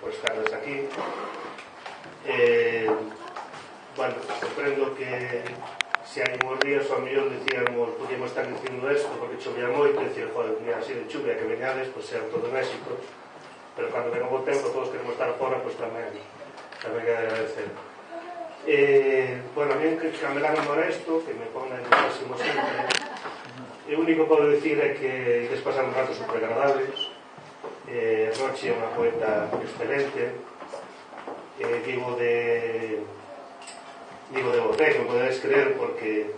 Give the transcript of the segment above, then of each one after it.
por estarles aquí. Bueno, comprendo que se hai uns días ao mellor dicíamos podíamos estar dicindo isto porque chovía moito e dicir, joder, mira, así de chuvia que veñades, pois é todo en éxito, pero cando venga o tempo todos queremos estar fora, pois tamén é de agradecer. Bueno, a mí que me dan amor a isto, que me pone en máximo sempre, e o único que podo dicir é que ides pasar un rato super agradables. Rochi é unha poeta excelente, digo de boté, que me podedes creer, porque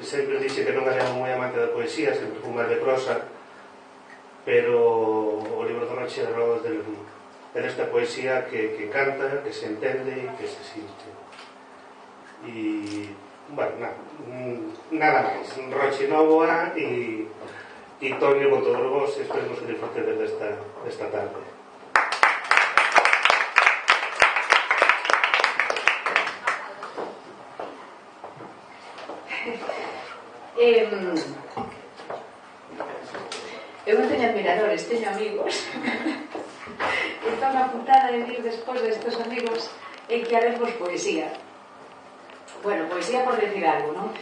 sempre dixe que non era moi amante da poesía, sempre fui máis de prosa, pero o libro de Rochi é de esta poesía que canta, que se entende e que se sinte. E, bueno, nada máis. Rochi Novoa e Tonio con todos vos, esperemos que disfrutedes desta tarde. Eu non teño admiradores, teño amigos. Entón a puntada de vir despois destes amigos é que haremos poesía. Bueno, poesía por decir algo, non?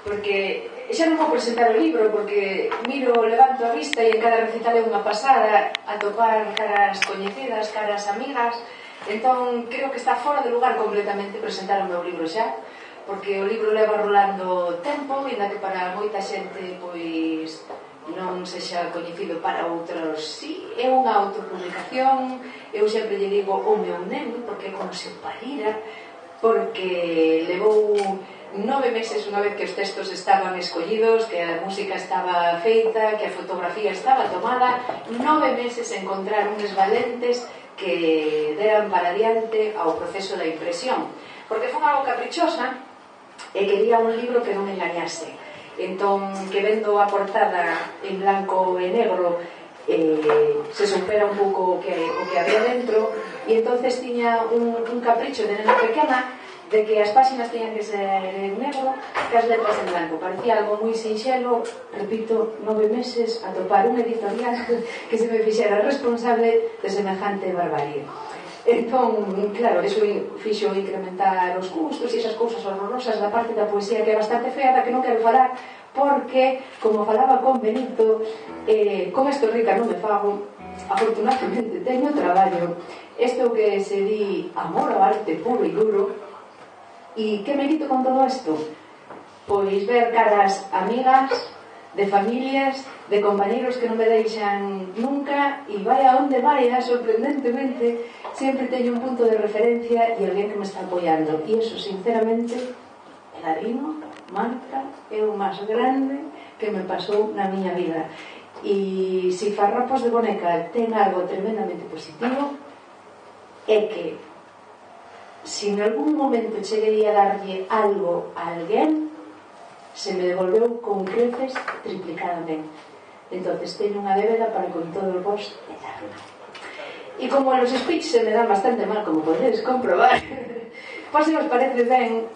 Porque xa non vou presentar o libro, porque miro, levanto a vista e en cada recital é unha pasada atopar caras coñecidas, caras amigas. Entón creo que está fora de lugar completamente presentar o meu libro xa, porque o libro leva rolando tempo, ainda que para moita xente pois non sexa coñecido, para outros sí, é unha autopublicación. Eu sempre lle digo o meu neno, porque é como se o parira, porque levou 9 meses unha vez que os textos estaban escollidos, que a música estaba feita, que a fotografía estaba tomada, 9 meses encontrar uns valentes que deran para adiante ao proceso da impresión, porque foi algo caprichosa e quería un libro que non engañase. Entón, que vendo a portada en blanco e negro, se supera un pouco o que había dentro, e entonces tiña un capricho de nena pequena de que as páxinas teñan que ser en negro e as letras en blanco. Parecía algo moi sinxelo, repito, 9 meses a topar un editorial que se me fixera responsable de semejante barbarie. Entón, claro, eso fixo incrementar os custos e esas cousas horrorosas da parte da poesía que é bastante fea, da que non quero falar, porque, como falaba con Benito, con esto rica non me fago, afortunadamente teño traballo. Isto que se di amor ao arte puro e duro. E que merito con todo isto? Pois ver caras amigas, de familias, de compañeros que non me deixan nunca, e vai a onde vai, sorprendentemente sempre teño un punto de referencia e alguén que me está apoiando, e iso sinceramente el Ladrino, Marta, é o máis grande que me pasou na miña vida. E se Farrapos de Boneca ten algo tremendamente positivo, é que se en algún momento cheguei a darlle algo a alguén, se me devolveu con creces triplicadamente. Entonces teño unha débeda para con todos vos eterna. E como los speech se me dan bastante mal, como podedes comprobar, pois se os parece ben,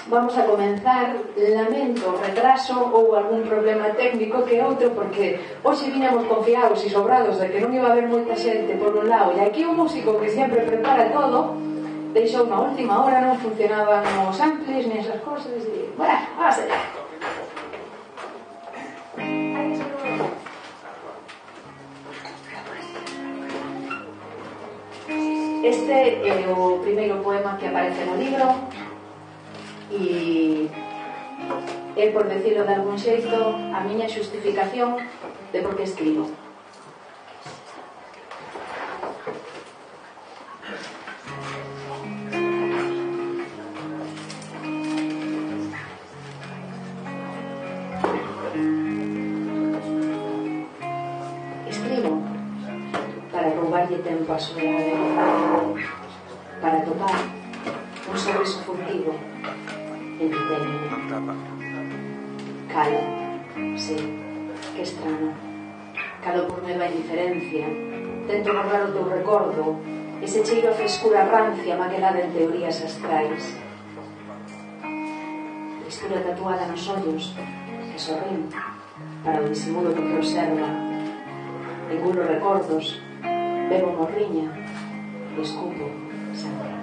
vamos a comenzar. Lamento retraso ou algún problema técnico que outro, porque hoxe viñamos confiados e sobrados de que non iba a haber moita xente por un lado, e aquí o músico que sempre prepara todo deixou na última hora, non funcionaban os amplis ni esas cosas, e bueno, vamos allá. Este é o primeiro poema que aparece no libro e é, por decirlo de algún xeito, a miña xustificación de por que escribo. Escribo para roubarlle tempo a soledade, para topar un sorriso furtivo en tu peine. Calo, sí, que estrano. Calo por medo a indiferencia. Tento borrar o teu recordo, ese cheiro a frescura rancia maquelada en teorías astrais. Textura tatuada nos ollos que sorrín para o disimulo do que observa. Engulo recordos bebo morriña e escupo sangre.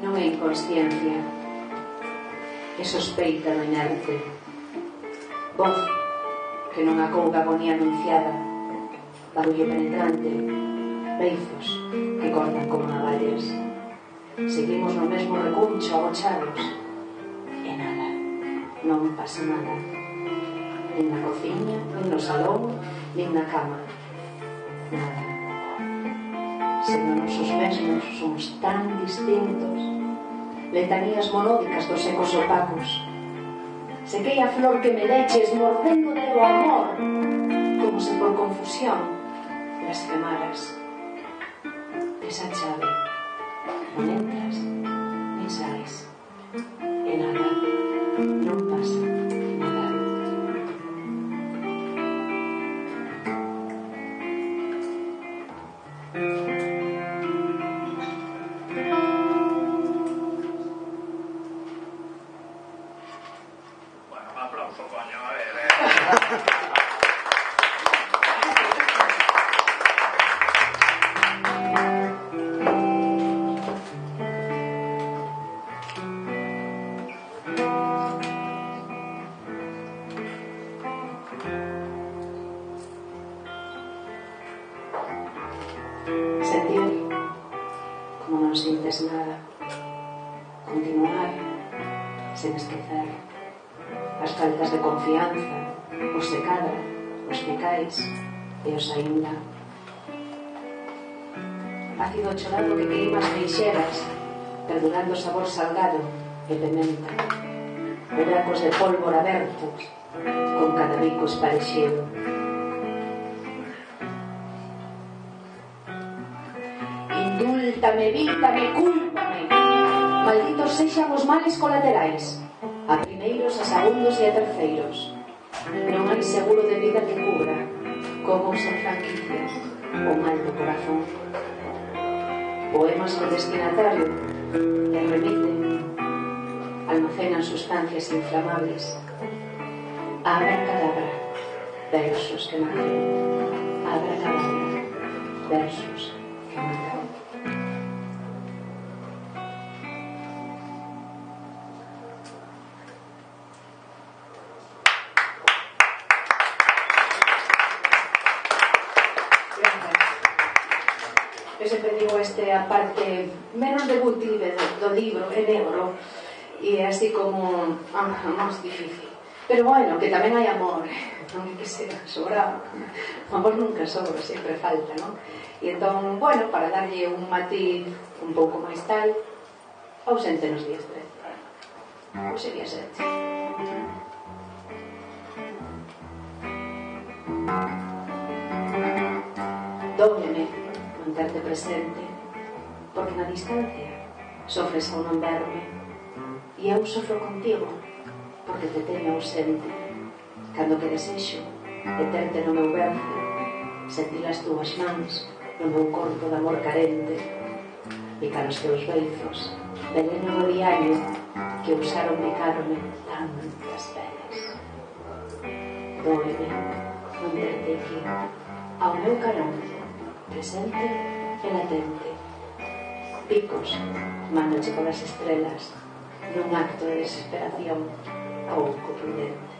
Non é inconsciencia, é sospeita do inerte, voz que non acouga agonía anunciada, barullo penetrante, beizos que cortan como navallas. Seguimos no mesmo recuncho agochados e nada, non pasa nada, nin na cociña, nin no salón, nin na cama, nada. Sendo nosos mesmos somos tan distintos, letanías monódicas dos ecos opacos. Sequei a flor que me leches mordendo de o amor, como se por confusión blasfemaras. Esa chave non entras nin sais e nada, non pasa nada. Sentir como non sintes nada, continuar sen esquecer as faltas de confianza, os se cadra, os picais e os aínda. Ácido chorado que queima as meixeras, perdurando o sabor salgado e pimenta, buracos de pólvora abertos con cada bico esparexido. Indúltame, evítame, cúlpame. Malditos sexan os males colaterais, a primeiros, a segundos e a terceiros. Non hai seguro de vida que cubra, como sen franquicias, o mal do corazón. Poemas con destinatario que remiten, almacenan sustancias inflamables. Abracadabra, versos que matan. Abracadabra, versos que matan. Eu sempre digo a parte menos debutive do libro, é negro e é así como máis difícil, pero bueno, que tamén hai amor, non é que sea sobrado, o amor nunca sobra, sempre falta, non? E entón, bueno, para darlle un matiz un pouco máis tal, ausente nos días 13 ou sería 7. Dóbleme manterte presente, porque na distancia sofres ao non verme, e eu sofro contigo porque te teño ausente. Cando que desexo de terte no meu berce, sentir as túas mans no meu corpo de amor carente, picar os teus beizos, veneno do diario que usaron picarme tantas veces. Dóeme non verte aquí, ao meu carón, presente e latente. Picos, mándoche polas estrelas, nun acto de desesperación pouco prudente.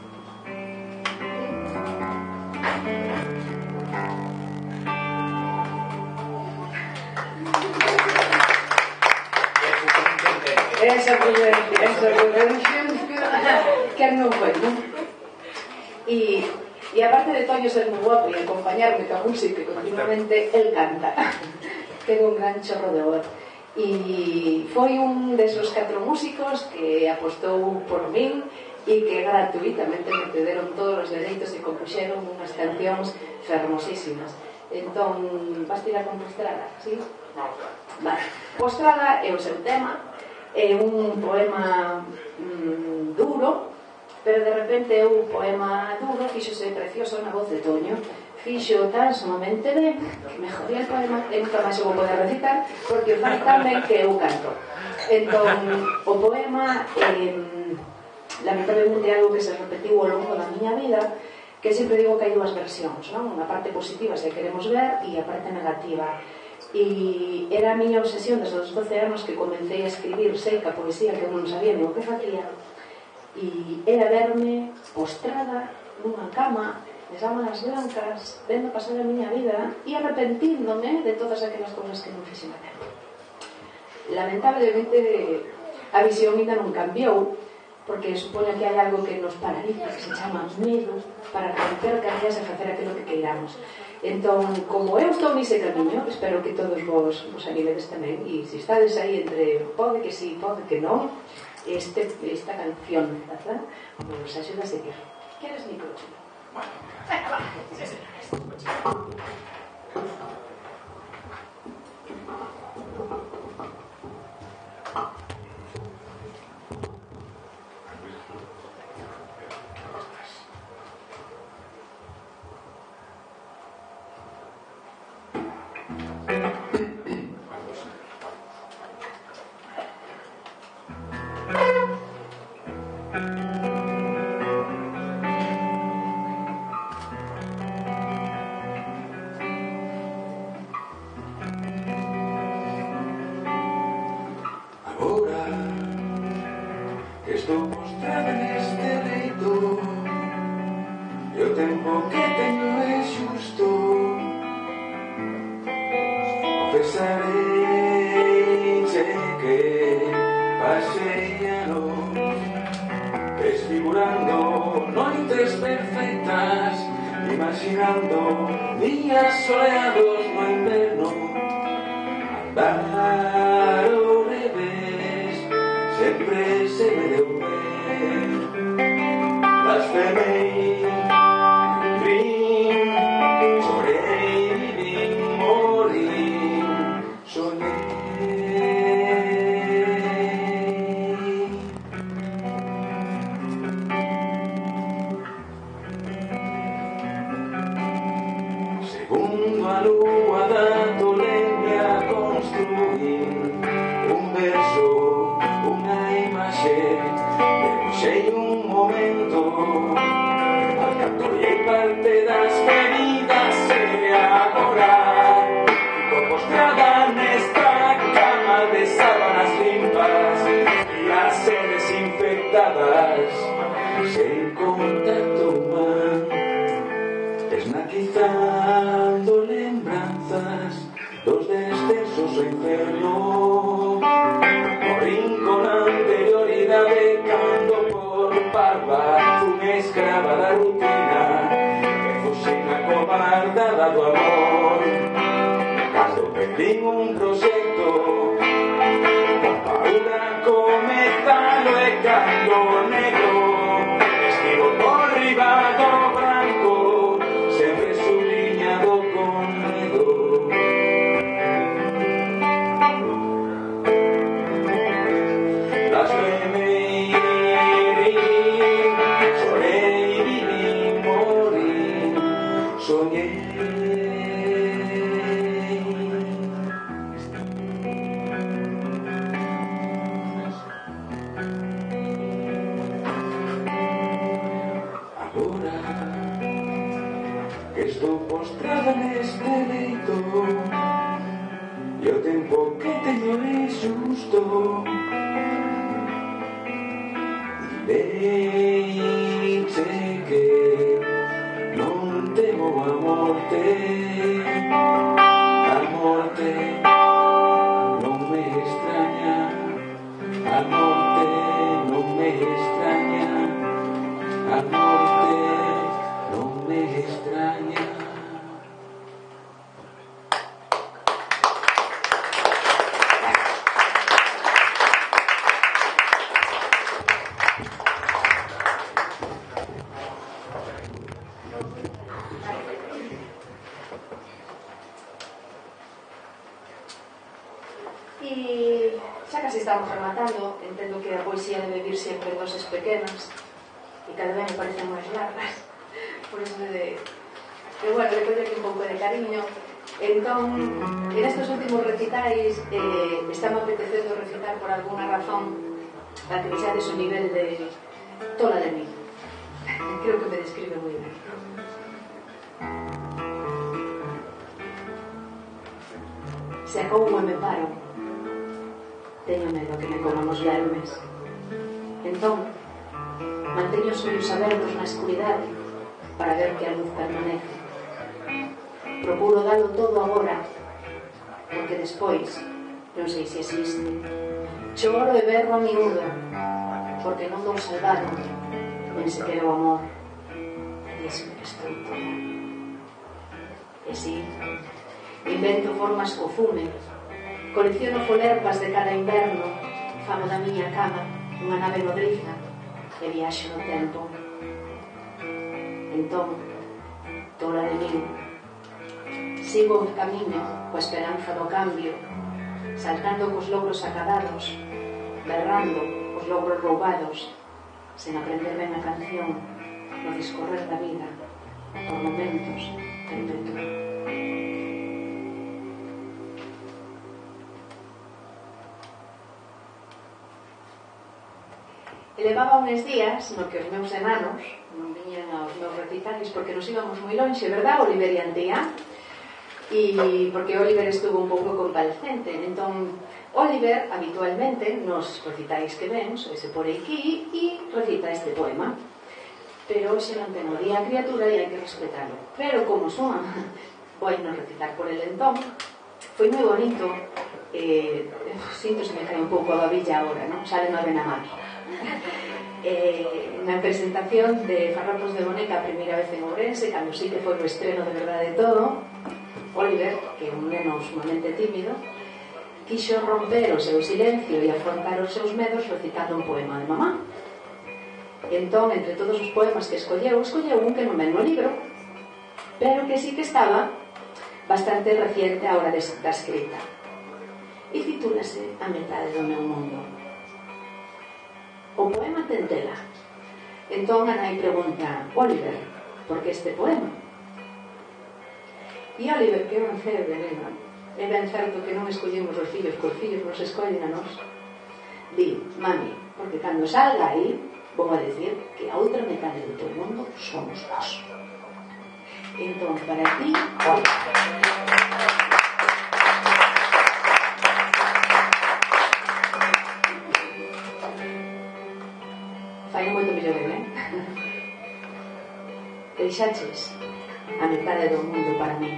Esa prudencia que non foi, non? E aparte de Toño ser moi guapo e acompañarme ca música, continuamente el canta. Ten un gran chorro de voz. E foi un desos 4 músicos que apostou por min e que gratuitamente me cederon todos os dereitos e compuxeron unhas cancións fermosísimas. Entón, vas tirar con Postrada, sí? Vale. Postrada é o seu tema É un poema duro, pero de repente o poema duro fíxose precioso na voz de Toño. Fixo tan sumamente ben, mejor el poema, e nunca máis o vou poder recitar, porque fai tan ben que eu canto. Entón, o poema lamentablemente é algo que se repetiu ao longo da miña vida, que sempre digo que hai dúas versións, non? Unha parte positiva, se queremos ver, e a parte negativa. E era a miña obsesión desde os 12 anos que comecei a escribir seca poesía que eu non sabía nin o que facía, e era verme postrada nunha cama de sábanas blancas, vendo pasar a miña vida e arrepentíndome de todas aquelas cousas que non fixen a tempo. Lamentablemente a visión ainda non cambiou, porque supoño que hai algo que nos paraliza, que se chama medo, para romper cadeas e facer aquilo que queiramos. Entón, como eu estou nese camiño, espero que todos vos animedes tamén, e se estades aí entre pode que sí, pode que non, esta canción, ¿verdad? Vos axuda a seguir. Queres micrófono? Bueno, venga, va, sí, señores. Estou postrada neste leito e o tempo que teño é xusto. Confesarei que pasei anos desfigurando noites perfectas, imaginando días soleados no inverno. Andar ao revés sempre se me deu ben. Blasfemei, vim, chorei, vim, morri, sonhei. Segundo a lúa da tolemia construín un verso, unha imaxe, debuxei un momento, alcantollei parte das feridas e agora fico postrada nesta cama de sábanas limpas e as desinfectadas, sen contacto humano, esnaquizando lembranzas dos descensos ao inferno. Morín con anterioridade cando por parva fun escrava da rutina e fuxen a cobardada do amor. Cando perdín un proxecto, paura comezalo e cando negro estivo por riba do branco, sempre subliñado con medo. Blasfemei, chorei, vivi, morri, soñei. Agora que estou postrada neste leito e o tempo que teño é xusto, deixe que non temo a morte. A morte non me extraña, a morte non me extraña, a morte non me extraña. E Xa casi estamos rematando. Entendo que a poesía debe vir sempre en doses pequenas e cada vez me parecen máis largas, por eso pero bueno, le colle aquí un pouco de cariño. Entón, en estes últimos recitais está me apetecendo recitar por alguna razón para que vexades o nivel de tola de mí. Creo que me describe moi ben. Se acoumo e me paro, teño medo que me coman os vermes. Entón, manteño os ollos abertos na escuridade para ver que a luz permanece. Procuro dalo todo agora, porque despois non sei se existe. Choro e berro a miúdo, porque non dou saudade, nen sequera o amor. Dísme que estou toda. E si, invento formas co fume, colecciono folerpas de cada inverno, famo da miña cama unha nave nodriza e viaxo no tempo. Entón, tola de min, sigo o camiño coa esperanza do cambio, saltando cos logros acadados, berrando os logros roubados, sen aprender ben a canción, no discorrer da vida, por momentos perpetuo. Levaba uns días no que os meus enanos non viñan aos meus recitais porque nos íbamos moi lonxe, verdad, Oliver e Antía? E porque Oliver estuvo un pouco convalescente. Entón, Oliver habitualmente nos recitais que ven soise por aquí e recita este poema, pero hoxe non ten o día a criatura e hai que respetarlo. Pero como son, vou non recitar por el. Entón, foi moi bonito. Sinto se me cae un pouco a babilla agora, non? Sale no na máquina. Na presentación de Farrapos de Boneca a primeira vez en Ourense, cando sí que foi o estreno de verdade todo, Oliver, que é un neno sumamente tímido, quixo romper o seu silencio e afrontar os seus medos recitando un poema de mamá. Entón, entre todos os poemas que escolleu un que non ven no libro, pero que sí que estaba bastante reciente a hora da escrita, e titúlase A metade do meu mundo. O poema ten tela. Entón a nai pregunta: Oliver, por que este poema? E Oliver, que é un cebre, nena, é ben certo que non escollemos os fillos, que os fillos nos escollen a nós. Di: mami, porque cando salga aí vou a decir que a outra metade do teu mundo somos nós. Entón, para ti, fai moito mellor ben, deixaches a metade do mundo para mí.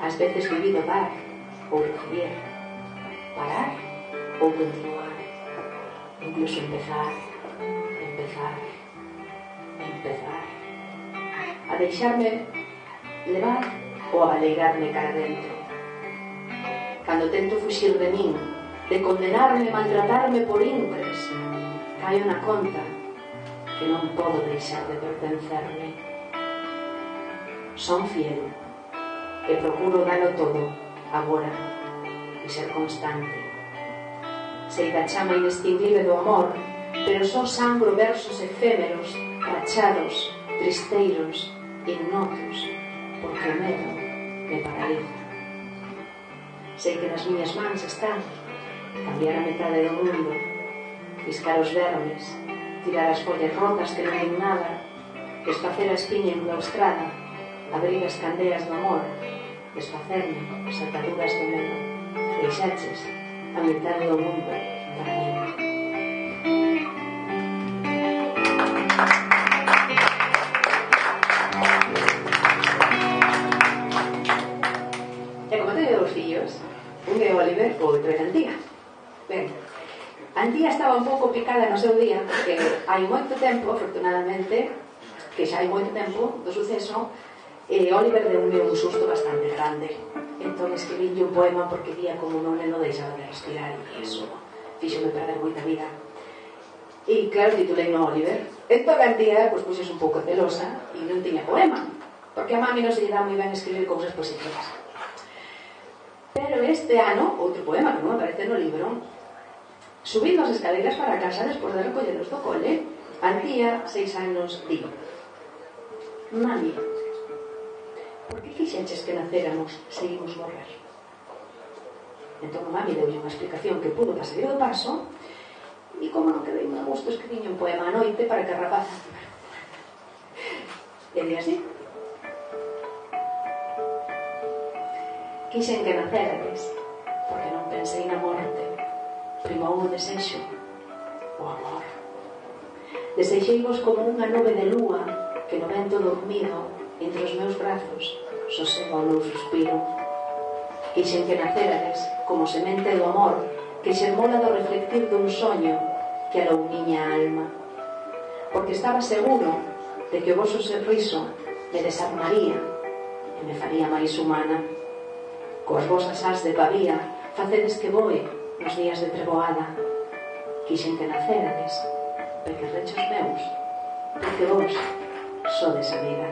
Ás veces vivido dar ou recoller, parar ou continuar, incluso empezar, a deixarme levar ou a alegrarme cara dentro. Cando tento fuxir de min, de condenarme, maltratarme por intres, caio na conta que non podo deixar de pertencerme. Son fiel e procuro dalo todo agora e ser constante. Sei da chama inextinguible do amor, pero só sangro versos efémeros, rachados, tristeiros, ignotos, porque o medo me paraliza. Sei que nas miñas mans están cambiar a metade do mundo, fiscar os vermes, tirar as follas rotas que non hai nada, desfacer a espiña enclaustrada, abrir as candeas do amor, desfacerme as ataduras do medo. Deixaches a metade do mundo para mí. E como teño dous fillos, un é Oliver, o outro é Antía. Ben, Antía estaba un pouco picada no seu día porque hai moito tempo, afortunadamente, que xa hai moito tempo do suceso, Oliver deu-me un susto bastante grande. Entón escribílle un poema porque vía como o meu neno deixaba de respirar e iso fíxome perder moita vida. E claro, titulei no Oliver. Entón Antía, pois puxes un pouco celosa e non tiña poema, porque a mami non se lle dá moi ben escribir cousas positivas. Pero este ano, outro poema que non aparece no libro, subindo as escaleiras para casa despois de recolleros do cole, Antía, 6 anos, digo: Mami, por que fixeches que naceramos se imos morrer? Entón a mami deulle unha explicación que pudo para salir do paso, e como non quedei moi a gusto, escribiñe un poema a noite para que a rapaza e di así: quixen que nacerades porque non pensei na morte, primou o desexo, o amor. Desexeivos como unha nube de lúa que no vento dormido entre os meus brazos sosega o meu suspiro. Quixen que nacerades como semente do amor que xermola do reflectir dun soño que alou miña alma, porque estaba seguro de que o voso sorriso me desarmaría e me faría máis humana. Coas vosas as de pavía facedes que voe nos días de treboada. Quixen que nacerades pequerrechos meus, porque vos sodes a vida.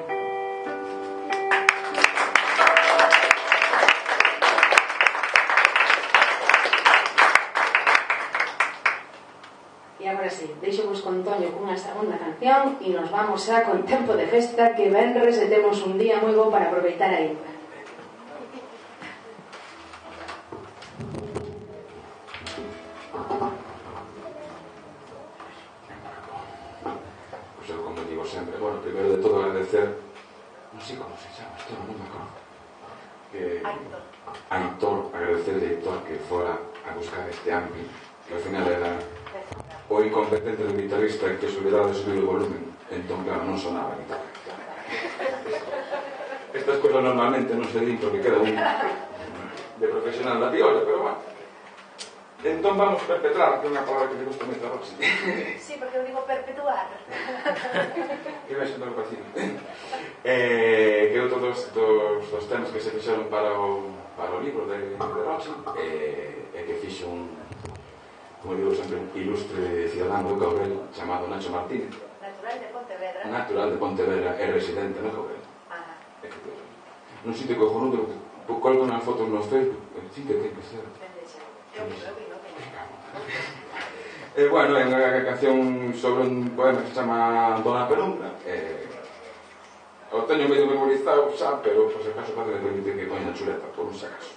E agora sí, deixo-vos con Toño cunha segunda canción e nos vamos xa con tempo de festa, que venres e temos un día moi bo para aproveitar aínda. Primero de todo agradecer, non sei como se chama, isto non me acordo, Aitor, agradecerle a Aitor que fora a buscar este ampli, que ao final era o incompetente do guitarrista que se olvidaba de subir o volumen, entón claro, non sonaba a guitarra. Estas cousas normalmente non se din porque queda un de profesional da viola, pero bueno. Entón vamos perpetrar, que é unha palabra que me gusta moito a Roxy. Sí, porque eu digo perpetuar. Que vai sendo parecido. Que outro dos temas que se fixeron para o libro de Roxy é que fixo un, como digo sempre, un ilustre cidadano do Cabrel chamado Nacho Martínez. Natural de Pontevedra. Natural de Pontevedra, é residente no Cabrel. Non sitio cojonudo, colgo unhas fotos no Facebook, sí que ten que ser. Bueno, é unha canción sobre un poema que se chama Dona Penumbra. O teño medio memorizado xa, pero por se acaso pode permitir que coña chuleta, por un sacaso.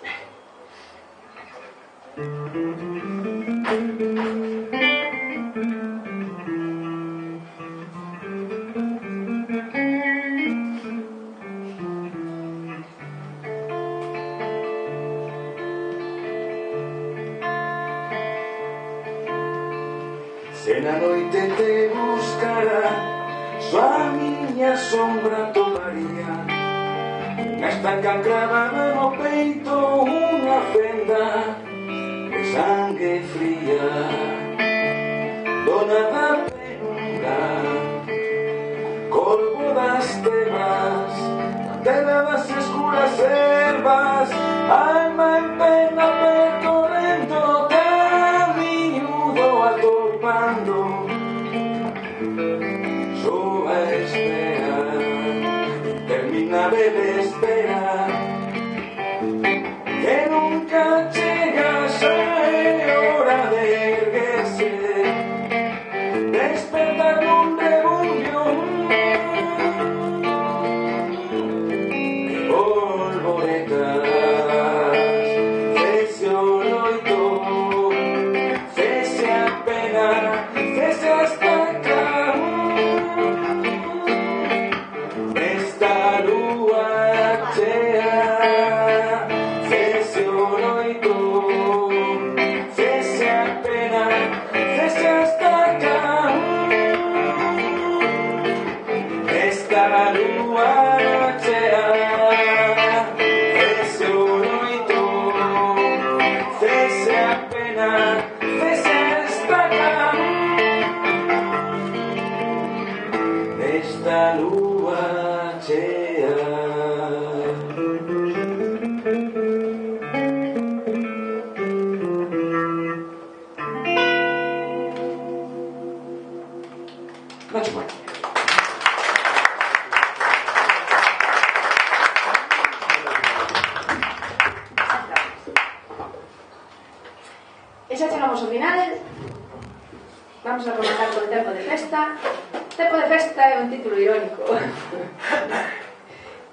Se na noite te buscara, só a miña sombra tomaría unha estaca cravada no peito, unha fenda de sangue fría. Dona da penumbra, corpo das tebas, a terra das escuras ervas, alma en pena percorrendo camiñudo atopando. Só a espera, interminable de espera, que nunca chega, xa é hora de erguerse, despertar nun rebumbio de polvoretas. Cese o loito, cese a pena, cese a estaca desta lúa chea, cese o loito, xa chegamos ao final. Vamos a rematar con o tempo de festa. Tempo de festa é un título irónico.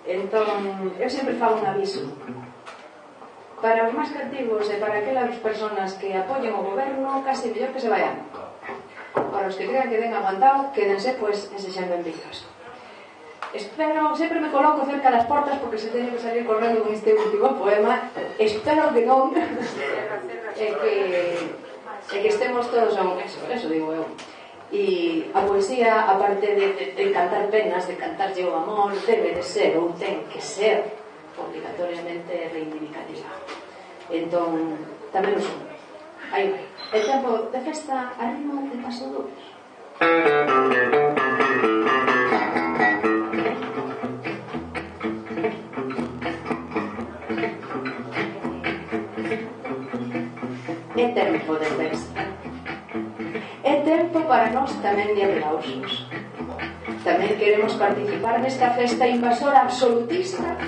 Entón, eu sempre fago un aviso. Para os máis cativos e para aquelas persoas que apoyen o goberno, casi mellor que se vayan. Para os que crean que den aguantado, quédense, pois, ensexando en picas. Espero, sempre me coloco cerca das portas porque se teño que salir correndo con este último poema. Espero que non que estemos todos a un eso digo eu. E a poesía, aparte de cantar penas, de cantarlle o amor, debe de ser ou ten que ser obligatoriamente reivindicativa. Entón, tamén o son. Aí vai. El tempo de festa a ritmo de paso dobles. É tempo de festa. É tempo para nós tamén de aplausos. Tamén queremos participar nesta festa invasora absolutista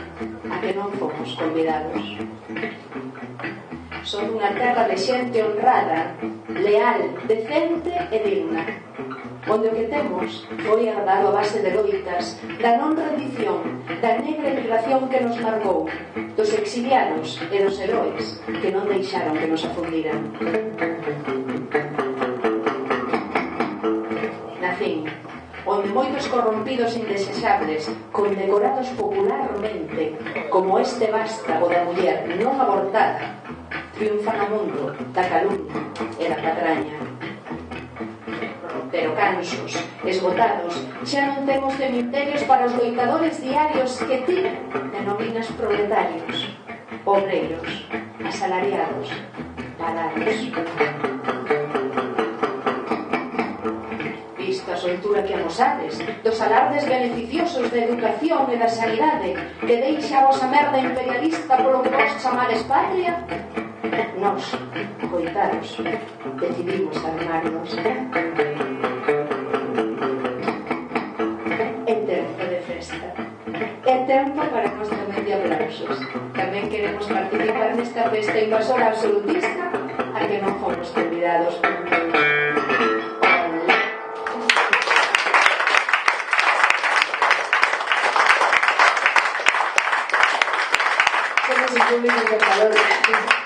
a que non fomos convidados. Son unha terra de xente honrada, leal, decente e digna, onde o que temos foi herdado a base de loitas, da non rendición, da negra emigración que nos marcou, dos exiliados e dos heróis que non deixaron que nos afundiran. Na fin, onde moitos corrompidos indesexables, condecorados popularmente, como este vástago da muller non abortada, triunfan no mundo da calumnia e da patraña. Pero cansos, esgotados, xa non temos cementerios para os loitadores diarios que ti denominas proletarios, obreiros, asalariados, parados. Visto a soltura que amosades dos alardes beneficiosos da educación e da sanidade que deixa a vosa merda imperialista polo que vos chamades patria, nós, coitados, decidimos armarnos. É tempo de festa. É tempo para nós tamén de aplausos. Tamén queremos participar nesta festa invasora absolutista a que non fomos convidados. Somos un público encantador.